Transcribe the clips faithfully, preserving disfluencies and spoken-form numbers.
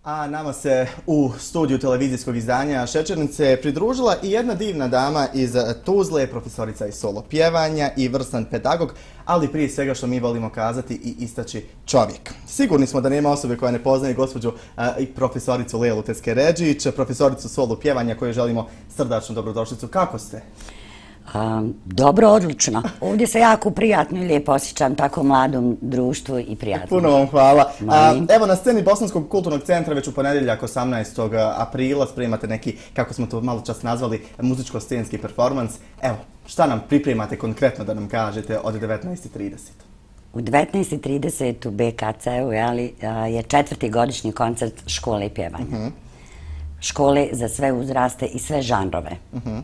A nama se u studiju televizijskog izdanja Šećernice pridružila i jedna divna dama iz Tuzle, profesorica iz solo pjevanja i vrstan pedagog, ali prije svega što mi volimo kazati i istaći čovjek. Sigurni smo da nema osobe koja ne poznaje gospođu i profesoricu Lelu Teskeredžić, profesoricu solo pjevanja koju želimo srdačnu dobrodošlicu. Kako ste? Um, dobro, odlično. Ovdje se jako prijatno i lijepo osjećam tako mladom društvu i prijatno. Puno vam hvala. A, evo na sceni Bosanskog kulturnog centra već u ponedjeljak osamnaestog aprila spremate neki, kako smo to malo čas nazvali, muzičko-scenski performans. Evo, šta nam pripremate konkretno da nam kažete od devetnaest i trideset? U devetnaest i trideset u B K C-u je četvrti godišnji koncert škole pjevanja. Uh-huh. Škole za sve uzraste i sve žanrove. Uh-huh.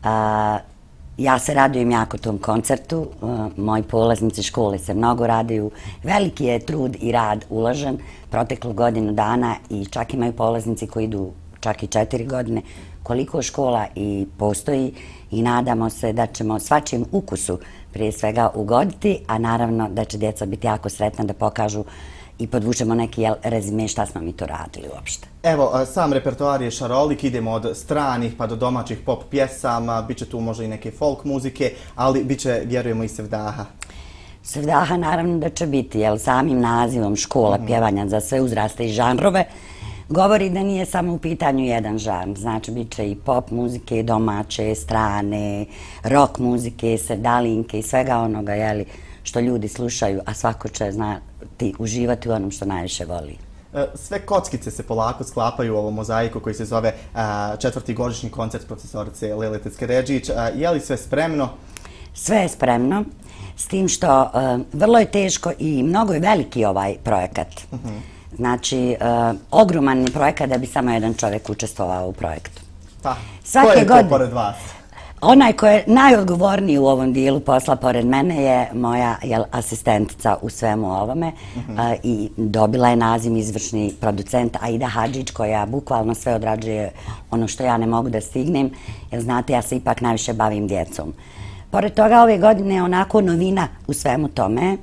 A, ja se radujem jako tom koncertu, a, moji polaznici škole se mnogo raduju, veliki je trud i rad uložen proteklu godinu dana i čak imaju polaznici koji idu čak i četiri godine, koliko škola i postoji i nadamo se da ćemo svačijem ukusu prije svega ugoditi, a naravno da će djeca biti jako sretna da pokažu i podvučemo neki rezime šta smo mi to radili uopšte. Evo, sam repertoar je šarolik, idemo od stranih pa do domaćih pop pjesama, bit će tu možda i neke folk muzike, ali bit će, vjerujemo, i sevdaha. Sevdaha naravno da će biti, jer samim nazivom škola mm-hmm. pjevanja za sve uzraste i žanrove govori da nije samo u pitanju jedan žanr. Znači, bit će i pop muzike, domaće, strane, rock muzike, sevdalinke i svega onoga, jeli, što ljudi slušaju, a svako će znati uživati u onom što najviše voli. Sve kockice se polako sklapaju u ovom mozaiku koji se zove četvrti godišnji koncert profesorice Lele Teskeredžić. Je li sve spremno? Sve je spremno, s tim što vrlo je teško i mnogo je veliki ovaj projekat. Uh-huh. Znači, ogroman je projekat da bi samo jedan čovjek učestvovao u projektu. Pa, ko je to pored vas? Onaj ko je najodgovorniji u ovom dijelu posla pored mene je moja jel, asistentica u svemu ovome uh-huh. a, i dobila je naziv izvršni producent Aida Hadžić koja bukvalno sve odrađuje ono što ja ne mogu da stignem, jer znate ja se ipak najviše bavim djecom. Pored toga ove godine je onako novina u svemu tome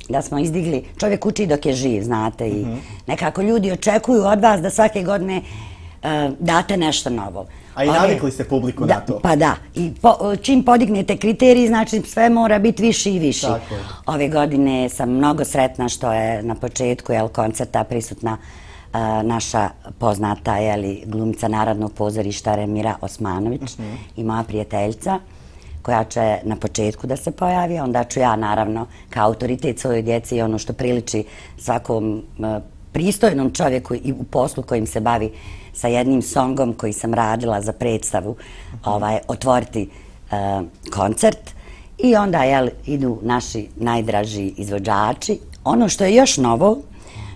da smo izdigli, čovjek uči dok je živ, znate, i uh-huh. nekako ljudi očekuju od vas da svake godine uh, date nešto novo. A i navikli ste publiku da, na to. Pa da. I po, čim podignete kriteriji, znači sve mora biti viši i viši. Tako je. Ove godine sam mnogo sretna što je na početku jel, koncerta prisutna uh, naša poznata jeli, glumica Narodnog pozorišta Remira Osmanović uh-huh. i moja prijateljica koja će na početku da se pojavi. Onda ću ja naravno kao autoritet svojoj djeci i ono što priliči svakom uh, pristojnom čovjeku i u poslu kojim se bavi sa jednim songom koji sam radila za predstavu, uh-huh. ovaj, otvoriti uh, koncert i onda jel, idu naši najdraži izvođači. Ono što je još novo,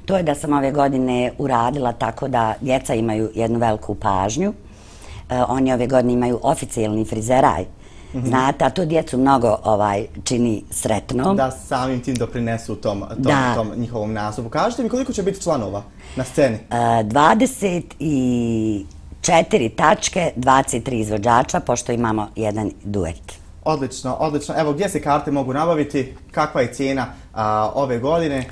to je da sam ove godine uradila tako da djeca imaju jednu veliku pažnju. Uh, oni ove godine imaju oficijalni frizeraj. Mm-hmm. Znate, a to djecu mnogo ovaj, čini sretnom. Da samim tim doprinesu tom, tom, tom njihovom nastupu. Kažete mi koliko će biti članova na sceni? Uh, dvadeset četiri tačke, dvadeset tri izvođača, pošto imamo jedan duet. Odlično, odlično. Evo, gdje se karte mogu nabaviti? Kakva je cijena a, ove godine?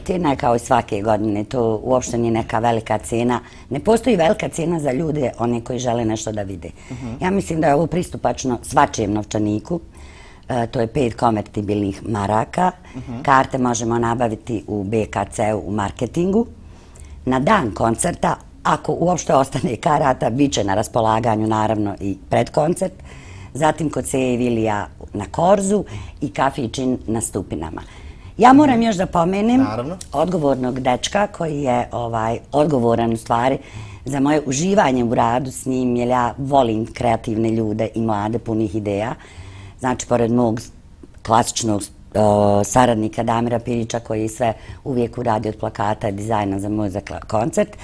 Cijena je kao i svake godine, to uopšte nije neka velika cijena. Ne postoji velika cijena za ljude, one koji žele nešto da vide. Uh-huh. Ja mislim da je ovo pristupačno svačijem novčaniku. E, to je pet konvertibilnih maraka. Uh-huh. Karte možemo nabaviti u B K C-u u marketingu. Na dan koncerta, ako uopšte ostane karata, bit će na raspolaganju naravno i predkoncert. Zatim kod Seje Vilija na Korzu i kafićin na Stupinama. Ja moram još da pomenem Naravno. odgovornog dečka koji je ovaj, odgovoran u stvari za moje uživanje u radu s njim, jer ja volim kreativne ljude i mlade punih ideja. Znači, pored mog klasičnog o, saradnika Damira Pirića koji sve uvijek uradi od plakata i dizajna za moj koncert,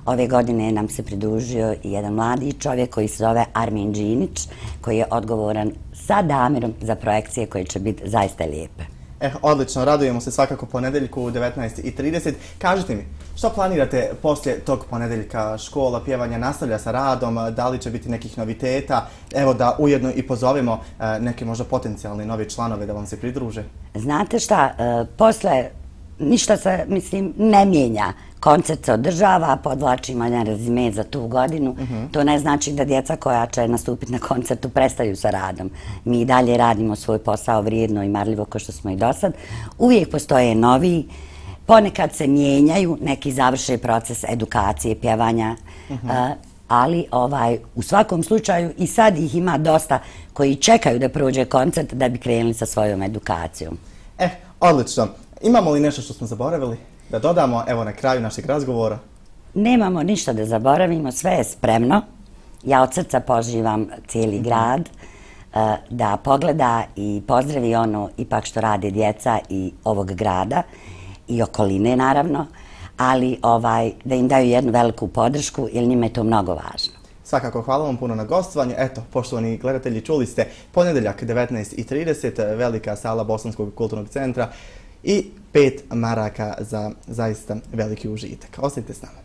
ove godine nam se pridružio i jedan mladi čovjek koji se zove Armin Đinić, koji je odgovoran sa Damirom za projekcije koje će biti zaista lijepe. Eh, odlično, radujemo se svakako ponedeljku u devetnaest i trideset. Kažite mi, što planirate poslije tog ponedeljka? Škola pjevanja nastavlja sa radom, da li će biti nekih noviteta? Evo da ujedno i pozovemo neke možda potencijalne nove članove da vam se pridruže. Znate šta, posle ništa se, mislim, ne mijenja. Koncert se održava, podvlačimo jedan rezime za tu godinu. To ne znači da djeca koja će nastupiti na koncertu prestaju sa radom. Mi i dalje radimo svoj posao vrijedno i marljivo kao što smo i do sad. Uvijek postoje novi, ponekad se mijenjaju, neki završe proces edukacije, pjevanja, ali u svakom slučaju i sad ih ima dosta koji čekaju da prođe koncert da bi krenuli sa svojom edukacijom. E, odlično. Imamo li nešto što smo zaboravili da dodamo, evo, na kraju našeg razgovora? Nemamo ništa da zaboravimo, sve je spremno. Ja od srca pozivam cijeli grad da pogleda i pozdravi ono ipak što rade djeca i ovog grada i okoline, naravno, ali da im daju jednu veliku podršku jer njima je to mnogo važno. Svakako, hvala vam puno na gostovanje. Eto, poštovani gledatelji, čuli ste ponedjeljak devetnaest i trideset, velika sala Bosanskog kulturnog centra i pet maraka za zaista veliki užitak. Ostanite s nama.